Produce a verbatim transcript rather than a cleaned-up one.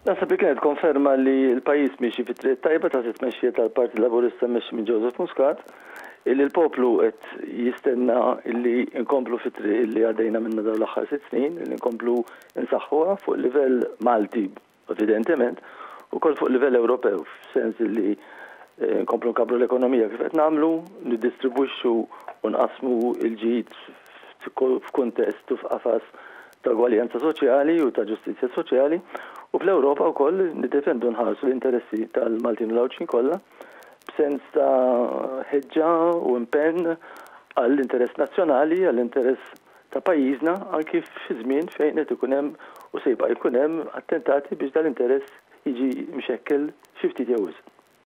Naħseb li kienet konferma li l-pajjiż miexi fit-triq tajba ta' tmexxija tal-Partit Laburista mmexxi minn Joseph Muscat, illi l-poplu qed jistenna illi nkomplu fit-triq illi għaddejna minna dawn l-aħħar sitt snin, illi nkomplu nsaħħuha fuq livell Malti evidentement, ukoll fuq livell Ewropew, f'sens illi eh, nkomplu nkabbru l-ekonomija kif qed nagħmlu, niddistribwixxu u nqasmu l-ġid f'kuntest u f'qafas ta' ugwaljanza soċjali u ta' ġustizzja soċjali, u fl-Ewropa wkoll niddefendu, nħarsu l-interessi tal-Maltin u l-Għawdxin kollha b'sens ta' ħeġġa u impenn għall-interess nazzjonali, għall-interess ta' pajjiżna, anki fi żmien fejn qed ikun hemm u se jibqa' jkun hemm attentati biex dal-interess jiġi mxekkel xi ftit jew wisq.